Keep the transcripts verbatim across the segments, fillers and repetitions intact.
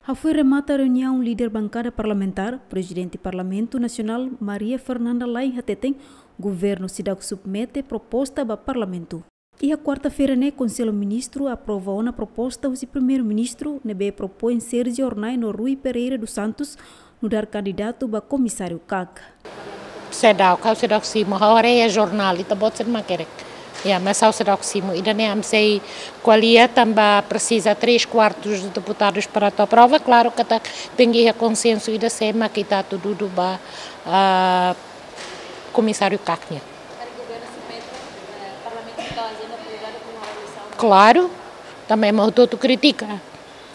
Hafoin remata reuniaun líder bankada parlamentár, Prezidente Parlamentu Nasionál Maria Fernanda Lay hateten, governu seidauk submete proposta ba Parlamentu. Iha kuarta-feira ne'e Konsellu Ministru aprova ona proposta husi Primeiru-Ministru ne'ebé propoin Sérgio Hornai no Rui Pereira dos Santos nu'udar kandidatu ba Komisáriu kak. Seidauk, ha'u seidauk simu, ha'u haree iha jornál, ita-boot sira mak hakerek. Ya, mas ha'u seidauk simu, ida-ne'e ami sei ko'alia tanba presiza três quartos de deputados para atu aprova, klaru katak tenke iha konsensu ida sé mak ita atu dudu ba, ah, Komisáriu kak nian. Klaru, tanba ema hotu-hotu kritika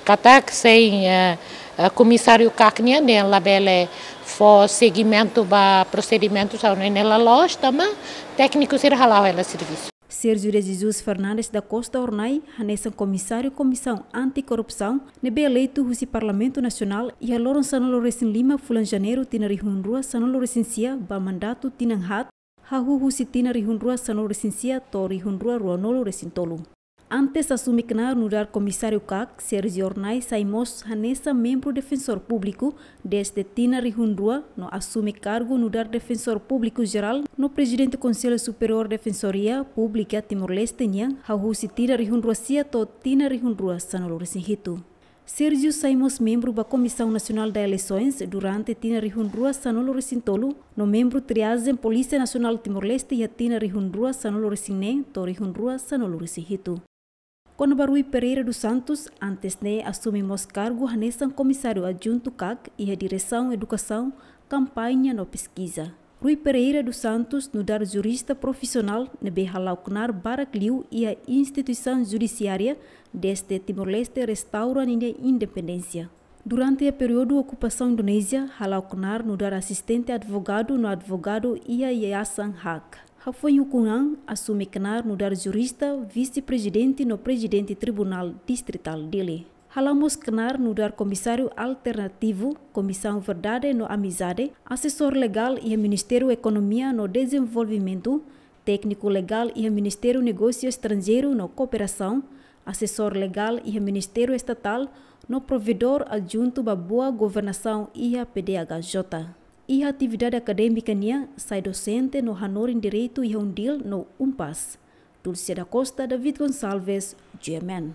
katak sein, eh, eh, Komisáriu kak nian labele fó segimentu ba prosedimentu, ha'u hanoin ne'e la loos, tanba tékniku sira hala'o hela servisu. Sérgio de Jesus Fernandes da Costa Hornai hanesan Komisáriu Komisaun Anti-Korrupsaun ne'ebé eleitu husi Parlamentu Nasionál iha loron sanulu-resin-lima fulan Janeiru tinan rihun rua sanulu-resin-sia ba mandatu tinan haat, hahú husi tinan rihun rua sanulu-resin-sia to'o rihun rua ruanulu-resin-tolu. Antes asume knaar nu'udar Komisáriu kak, Sérgio Hornai sai mós hanesan membru Defensór Públiku dezde tinan rihun rua no asume kargu nu'udar Defensór Públiku Jerál no Prezidente Konsellu Superiór Defensoria Públika Timor-Leste nian, hahú husi tinan rihun rua sia to'o tinan rihun rua sanulu-resin-hitu. Sérgio sai mós membru ba Comissão Nacional de Eleições durante tinan rihun rua sanulu-resin-tolu, no membru triazen Polísia Nasionál Timor-Leste iha tinan rihun rua sanulu-resin-neen to'o rihun rua sanulu-resin-hitu. Kona-ba Rui Pereira dos Santos, antes ne'e asume mós kargu hanesan Komisáriu Adjuntu kak iha Diresaun Edukasaun, Kampaña no Peskiza. Rui Pereira dos Santos nu'udar jurista profisionál ne'ebé hala'o knaar barak liu iha instituisaun judisiária dezde Timor-Leste restaura ninia independénsia. Durante períodu okupasaun Indonézia, hala'o knaar nu'udar asistente advogadu no advogadu iha Yayasan Hak. Hafoin ukun an, asume knaar nu'udar jurista, vise-prezidente no prezidente Tribunál Distritál Dili. Hala'o mós knaar nu'udar Komisáriu Alternativu, Komisaun Verdade no Amizade, asesór legál iha Ministériu Ekonomia no Dezenvolvimentu, tékniku legál iha Ministériu Negósiu Estranjeiru no Kooperasaun, asesór legál iha Ministériu Estatál no provedór adjuntu ba boa governasaun iha P D H J. Iha atividade akadémika nian, sai dosente no hanorin direitu iha UNDIL no UNPAZ. Dulce da Costa, David Gonçalves, G M N.